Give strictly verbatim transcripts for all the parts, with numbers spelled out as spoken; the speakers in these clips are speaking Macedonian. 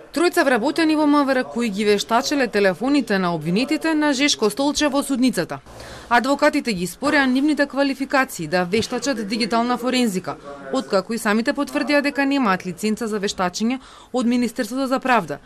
Тројца вработени во МВР кои ги вештачеле телефоните на обвинетите на Жешко Столче во судницата. Адвокатите ги спореа нивните квалификации да вештачат дигитална форензика, откако и самите потврдија дека немаат лиценца за вештачење од Министерството за правда,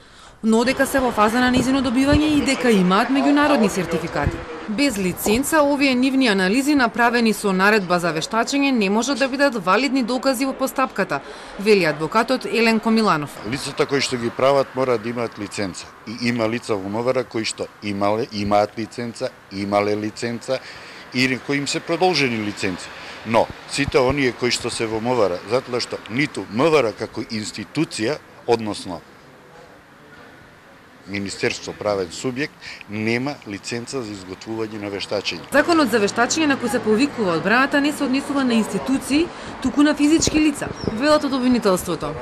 но дека се во фаза на нејзино добивање и дека имаат меѓународни сертификати. Без лиценца, овие нивни анализи направени со наредба за вештачење не можат да бидат валидни докази во постапката, вели адвокатот Еленко Миланов. Лицата кои што ги прават мора да имаат лиценца. И има лица во МВР кои што имале, имаат лиценца, имале лиценца и кои им се продолжени лиценци. Но сите оние кои што се во МВР, затоа што ниту МВР како институција, односно Министерство правен субјект, нема лиценца за изготвување на вештачење. Законот за вештачење на кој се повикува одбраната не се однесува на институции, туку на физички лица, велат од обвинителството.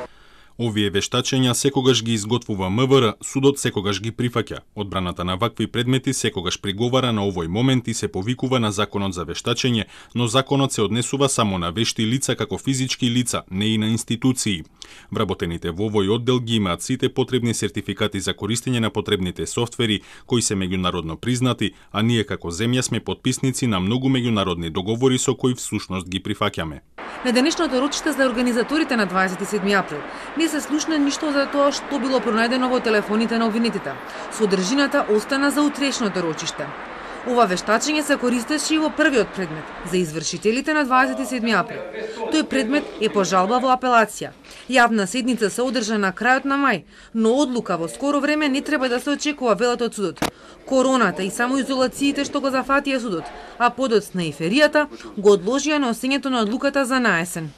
Овие вештачења секогаш ги изготвува МВР, судот секогаш ги прифаќа. Одбраната на вакви предмети секогаш приговара на овој момент и се повикува на законот за вештачење, но законот се однесува само на вешти лица како физички лица, не и на институции. Вработените во овој оддел ги имаат сите потребни сертификати за користење на потребните софтвери кои се меѓународно признати, а ние како земја сме потписници на многу меѓународни договори со кои всушност ги прифаќаме. На денешното рочиште за организаторите на дваесет и седми април не се слушна ништо за тоа што било пронајдено во телефоните на обвинетите. Содржината остана за утрешното рочиште. Ова вештачење се користеше и во првиот предмет за извршителите на дваесет и седми април. Тој предмет е по жалба во апелација. Јавна седница се одржа на крајот на мај, но одлука во скоро време не треба да се очекува, велат од судот. Короната и самоизолациите што го зафатија судот, а подоцна и феријата го одложија носењето на одлуката за наесен.